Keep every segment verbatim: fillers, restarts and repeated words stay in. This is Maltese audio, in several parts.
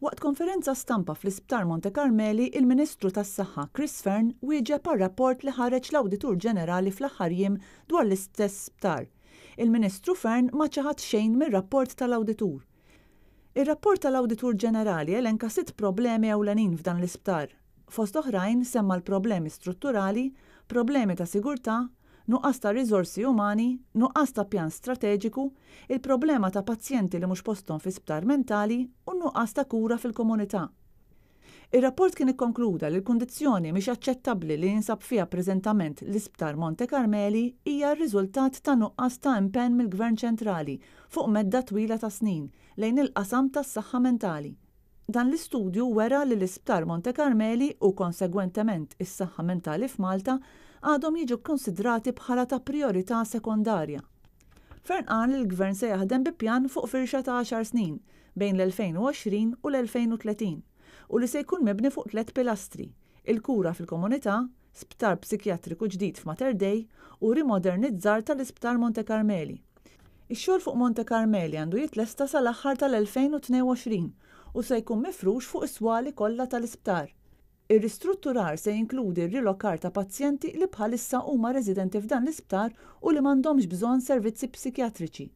Waqt konferenza stampa fl-Isptar Monte Carmeli, il-Ministru tas-Saħħa Chris Fearne wieġeb għar-rapport li ħareġ l-Awditur Ġenerali fl-aħħar jiem dwar l-istess sptar. Il-Ministru Fearne ma ċaħad xejn mir-rapport tal-Awditur. Ir-rapport tal-Awditur Ġenerali elenka sitt problemi ewlenin f'dan l-isptar. Fost oħrajn semma l-problemi strutturali, problemi ta' sigurtà, nuqqas ta' riżorsi umani, nuqqas ta' pjan strateġiku, il-problema ta' pazjenti li mhux posthom fi sptar mentali u nuqqas ta' kura fil-komunità. Ir-rapport kien ikkonkluda li l-kundizzjoni mhix aċċettabbli li jinsab fiha preżentament l-Isptar Monte Carmeli hija r-riżultat ta' nuqqas ta' impenn mill-Gvern Ċentrali fuq medda twila ta' snin lejn il-qasam tas-saħħa mentali. Dan l-istudju wera li l-Isptar Monte Carmeli u konsegwentement is-saħħa mentali f'Malta għadhom jiġu konsidrati bħala ta' priorità sekondarja. Fearne qal li l-Gvern se jaħdem bi pjan fuq firxa ta' għaxar snin bejn l-elfejn u għoxrin u l-elfejn u tletin u li se jkun mibni fuq tliet pilastri: il-kura fil-komunità, sptar psikjatriku ġdid f'Mater Dei u rimodernizzar tal-Isptar Monte Carmeli. Ix-xogħol fuq Monte Carmeli għandu jitlesta sal-aħħar tal-elfejn u tnejn u għoxrin u se jkun mifrux fuq is-swali kollha tal-isptar. Ir-ristrutturar se jinkludi r-rilokar ta' pazjenti li bħalissa huma residenti f'dan l-isptar u li m'għandhomx bżonn servizzi psikjatriċi.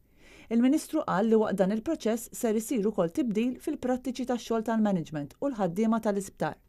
Il-Ministru qal li waqt dan il-proċess ser isir ukoll tibdil fil-prattiċi tax-xogħol tal-management u l-ħaddiema tal-isptar.